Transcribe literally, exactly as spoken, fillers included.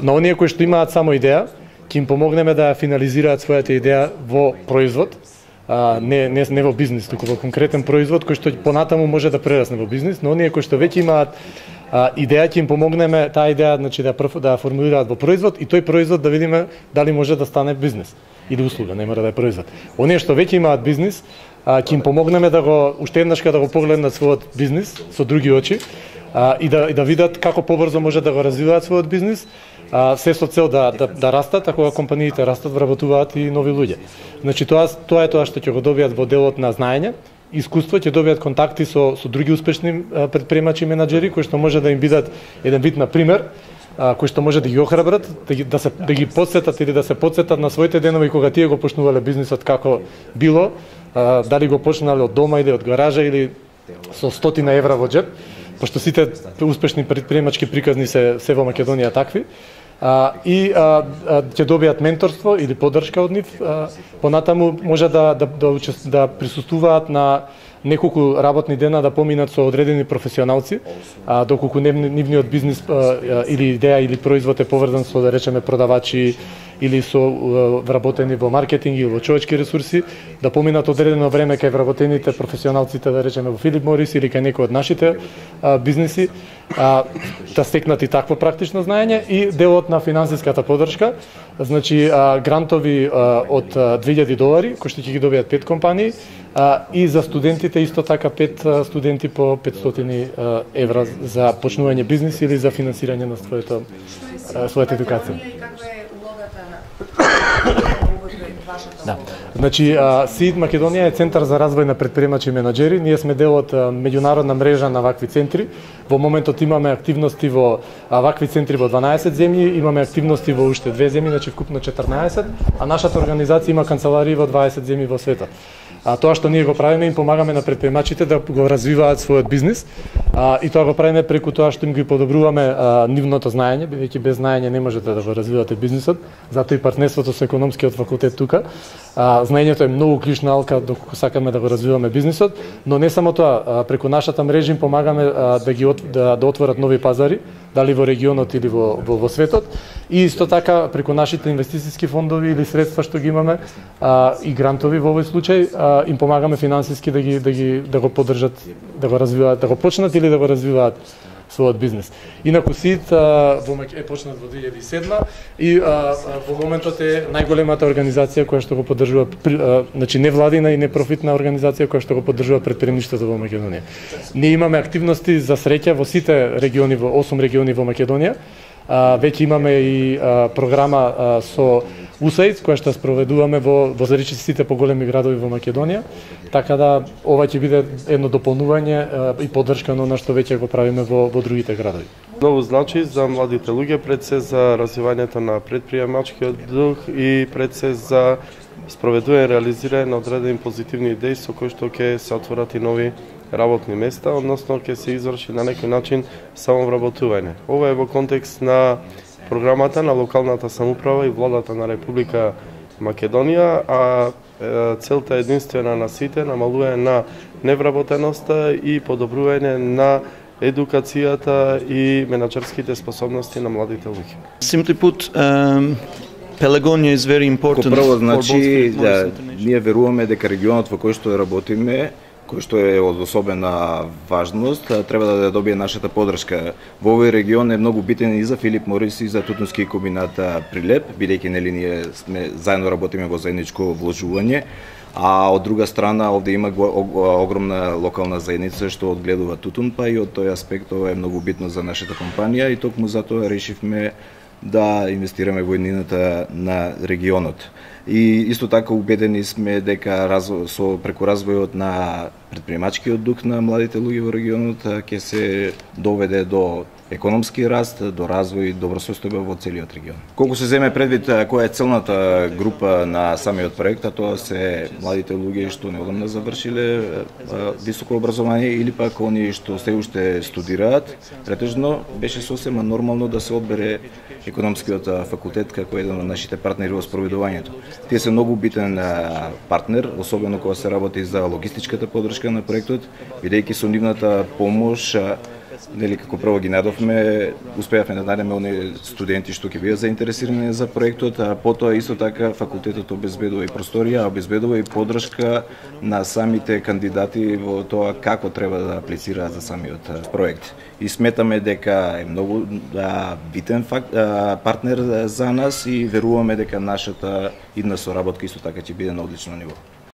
на оние кои што имаат само идеја, ќе им помогнеме да ја финализираат својата идеја во производ, а, не, не, не во бизнис, туку во конкретен производ кој што понатаму може да прерасне во бизнис, но оние кои што веќе имаат а, идеја, ќе им помогнеме таа идеја, значи да да формулираат во производ и тој производ да видиме дали може да стане бизнис или услуга, не мора да е производ. Оние што веќе имаат бизнис, а, ќе им помогнеме да го уште еднашка да го погледнат својот бизнис со други очи а, и да и да видат како побрзо може да го развиваат својот бизнис. А, се со цел да, да, да растат, а кога компаниите растат, вработуваат и нови луѓе. Значи тоа, тоа е тоа што ќе го добијат во делот на знаење, искуство, ќе добијат контакти со, со други успешни предприемачи и менаџери, кои што може да им бидат еден вид на пример, а, кои што може да ги охрабрат, да ги, да, се, да ги подсетат или да се подсетат на своите денови кога тие го почнувале бизнисот како било, а, дали го почнале од дома или од гаража или со стотина евра во џеп, пошто сите успешни предприемачки приказни се се во Македонија такви. А, и а, а, ќе добијат менторство или поддршка од нив, а, понатаму може да да да, учест, да присуствуваат на неколку работни дена да поминат со одредени професионалци, а доколку нивниот бизнис а, или идеја или производ е поврзан со, да речеме, продавачи или со вработени во маркетинг или во човечки ресурси, да поминат одредено време кај вработените професионалците, да речеме во Филип Морис или кај некој од нашите а, бизниси, а, да стекнат и такво практично знаење и делот на финансиската поддршка, значи а, грантови а, од две илјади долари, кои што ќе ги добијат пет компании, а, и за студентите исто така пет а, студенти по петстотини евра за почнување бизнис или за финансирање на своето а, својата едукација. Да. Значи, СИД Македонија е центар за развој на предприемачи и менаџери. Ние сме дел од меѓународна мрежа на вакви центри. Во моментот имаме активности во вакви центри во дванаесет земји, имаме активности во уште две земји, значи вкупно четрнаесет, а нашата организација има канцеларии во дваесет земји во светот. А тоа што ние го правиме, им помагаме на предприемачите да го развиваат својот бизнис, а, и тоа го правиме преку тоа што им ги подобруваме а, нивното знаење, бидејќи без знаење не можете да го развивате бизнисот, затоа и партнерството со економскиот факултет тука. А, знаењето е многу клучна алка доколку сакаме да го развиваме бизнисот, но не само тоа, а, преку нашата мрежа им помагаме а, да ги от, да, да отворат нови пазари, дали во регионот или во, во, во светот, и исто така преку нашите инвестициски фондови или средства што ги имаме а, и грантови во овој случај, а, им помагаме финансиски да ги да ги да го поддржат, да го развиваат, да го почнат или да го развиваат својот бизнес. Инаку СИД во е почнат во две илјади и седма и а, во моментот е најголемата организација која што го поддржува, а, значи невладина и непрофитна организација која што го поддржува претприемништвото во Македонија. Ние имаме активности за среќа во сите региони, во осум региони во Македонија. А, веќе имаме и а, програма а, со ю ес ей ай ди која што спроведуваме во во сите поголеми градови во Македонија, така да ова ќе биде едно дополнување а, и поддршка на она што веќе го правиме во во другите градови. Многу значи за младите луѓе, пред се за развивањето на претприемачкиот дух и пред се за спроведување и реализирање на одредени позитивни идеи со кои што ќе се отворат и нови работни места, односно ќе се изврши на некој начин самовработување. Ова е во контекст на програмата на локалната самоуправа и владата на Република Македонија, а целта единствена на сите намалување на невработеноста и подобрување на едукацијата и менаџерските способности на младите луѓе. Simply put, um... Pelagonia is very important. Прво, значи, да, ние веруваме дека регионот во кој што работиме, кој што е од особена важност, треба да добие нашата поддршка. Во овој регион е многу битен и за Филип Морис и за Тутунски комбинат Прилеп, бидејќи нели ние сме заедно работиме во заедничко вложување, а од друга страна овде има огромна локална заедница што одгледува тутун, па и од тој аспект ова е многу битно за нашата компанија и токму затоа решивме да инвестираме во еднината на регионот. И исто така убедени сме дека разво, со преку развојот на предприемачкиот дух на младите луѓе во регионот ќе се доведе до економски раст, до развој и добра состојба во целиот регион. Колку се земе предвид која е целната група на самиот проект, а тоа се младите луѓе што неодамна завршиле високо образование или пак оние што се уште студираат, претежно беше сосема нормално да се одбере економскиот факултет како еден од нашите партнери во спроведувањето. Тие се многу битен партнер, особено кога се работи за логистичката поддршка на проектот, бидејќи со нивната помош нели како прво ги надовме, успеавме да најдеме оние студенти што ќе бидат заинтересирани за проектот, а потоа исто така факултетот обезбедува и просторија, обезбедува и поддршка на самите кандидати во тоа како треба да аплицираат за самиот проект. И сметаме дека е многу да, битен факт, а, партнер за нас и веруваме дека нашата идна соработка исто така ќе биде на одлично ниво.